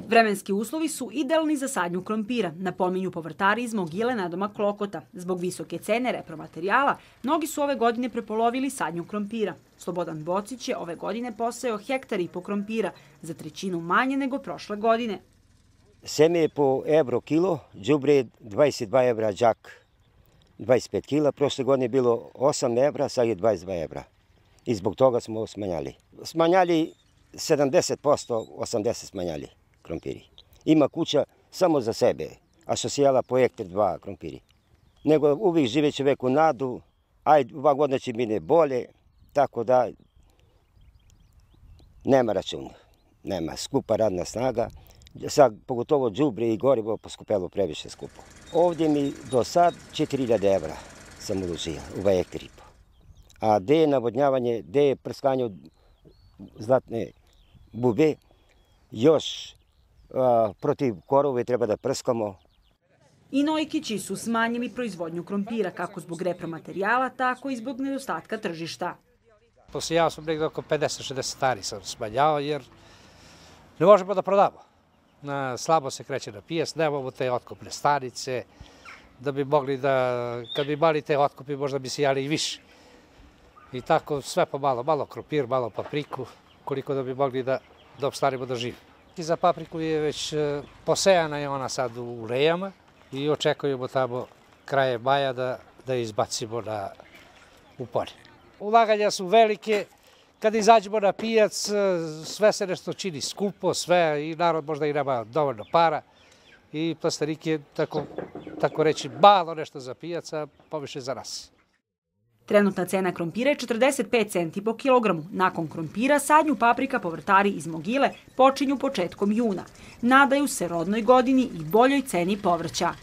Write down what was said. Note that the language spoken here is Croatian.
Vremenski uslovi su idealni za sadnju krompira, napominju povrtari iz Mogile nadomak Klokota. Zbog visoke cene repromaterijala, mnogi su ove godine prepolovili sadnju krompira. Slobodan Bocić je ove godine posejao 1,5 hektara krompira, za trećinu manje nego prošle godine. Seme je po evro kilo, đubre 22 evra džak, 25 kila. Prošle godine je bilo 8 evra, sad je 22 evra. I zbog toga smo smanjali. Smanjali 70%, 80% smanjali krompiri. Ima kuća samo za sebe, a što se jela po hektar 2 krompiri. Nego uvijek žive čovek u nadu, ajde, ova godina će biti bolje, tako da nema računa, nema skupa radna snaga. Sad, pogotovo đubre i gorivo poskupelo previše skupo. Ovdje mi do sad 4000 evra sam uložio u 2,5 hektara. A gde je navodnjavanje, gde je prskanje od zlatne bube, još protiv korove treba da prskamo. I Nojkići su smanjili proizvodnju krompira, kako zbog repromaterijala, tako i zbog nedostatka tržišta. Posijao sam negdje oko 50-60 tari sam smanjao, jer ne možemo da prodamo. Slabo se kreće na pijac, nemamo te otkupne stanice, da bi mogli da, kad bi imali te otkupi, možda bi sijali i više. I tako sve po malo, malo krompir, malo papriku, koliko da bi mogli da opstanemo da živimo. I za papriku je već posejana je ona sad u rejama i očekujemo tamo kraje maja da izbacimo u polje. Ulaganja su velike, kad izađemo na pijac, sve se nešto čini skupo, sve i narod možda i nema dovoljno para i plastenik je, tako reći, malo nešto za pijac, a poviše za nas. Trenutna cena krompira je 45 centi po kilogramu. Nakon krompira sadnju paprika povrtari iz Mogile počinju početkom juna. Nadaju se rodnoj godini i boljoj ceni povrća.